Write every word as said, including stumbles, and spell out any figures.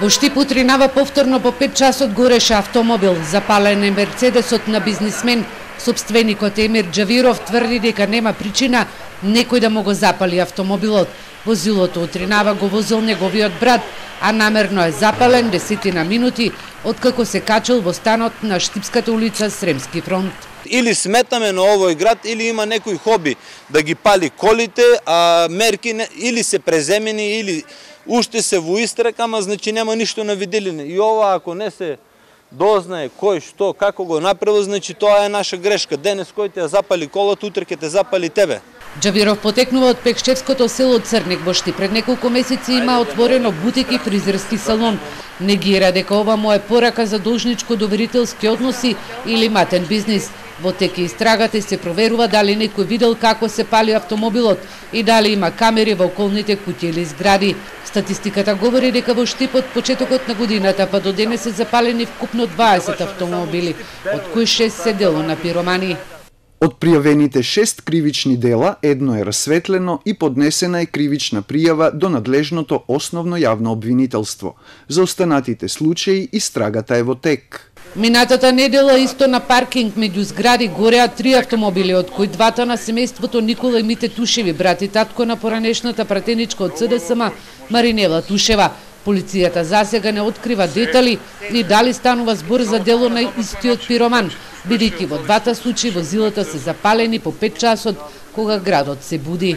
Во Штип утринава повторно по пет часот гореше автомобил. Запален е мерцедесот на бизнисмен. Сопственикот Емир Џавиров тврди дека нема причина некој да му го запали автомобилот. Возилото утринава го возил неговиот брат, а намерно е запален десетина минути откако се качил во станот на Штипската улица Сремски фронт. Или сметаме на овој град, или има некој хоби да ги пали колите, а мерки не, или се преземени, или уште се во истрак, ама значи нема ништо на виделина. И ова ако не се дознае кој што, како го направил, значи тоа е наша грешка. Денес кој те запали колата, утре ќе те запали тебе. Џавиров потекнува од Пекшевското село Црник во Штип. Пред неколку месеци има отворено бутик и фризерски салон. Негира дека ова му е порака за должничко-доверителски односи или матен бизнис. Во теке истрагата се проверува дали некој видел како се пали автомобилот и дали има камери во околните куќи или згради. Статистиката говори дека во Штип од почетокот на годината па до денес се запалени вкупно дваесет автомобили, од кои шест се дело на пиромани. Од пријавените шест кривични дела, едно е расветлено и поднесена е кривична пријава до надлежното основно јавно обвинителство. За останатите случаи истрагата е во тек. Минатата недела исто на паркинг меѓу згради гореа три автомобили, од кои двата на семејството Никола и Мите Тушеви, брат и татко на поранешната пратеничка од СДСМ Маринела Тушева. Полицијата засега не открива детали и дали станува збор за дело на истиот пироман, бидејќи во двата случаи возилата се запалени по пет часот кога градот се буди.